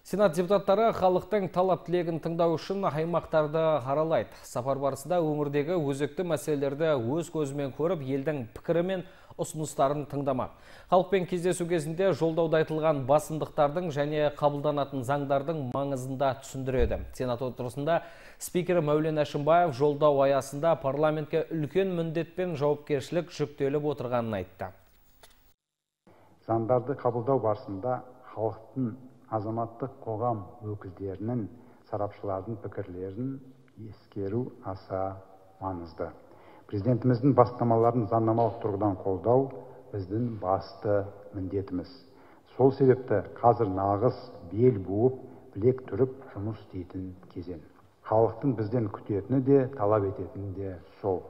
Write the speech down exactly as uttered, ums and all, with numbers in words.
Сенат депутаттары халықтың талап тілегін тыңдау үшін аймақтарды аралайды. Сапар барысында өңірдегі өзекті мәселелерді өз көзімен көріп, елдің пікірі мен ұсыныстарын тыңдамақ. Халықпен кездесу кезінде жолдауда айтылған басымдықтардың және қабылданатын заңдардың маңызында түсіндіреді. Сенат отырысында спикері Мәулен Әшімбаев жолдау аясында парламентке үлкен міндет пен жауапкершілік жүктеліп отырғанын айтты. Заңдарды қабылдау барысында халықтың, азаматтық қоғам өкілдерінің, сарапшылардың пікірлерін ескеру аса маңызды. Президентіміздің бастамаларын заңнамалық тұрғыдан қолдау біздің басты міндетіміз. Сол себепті қазір нағыз бел буып, білек түріп жұмыс істейтін кезең. Халықтың бізден күтетіні де, талап ететіні де сол.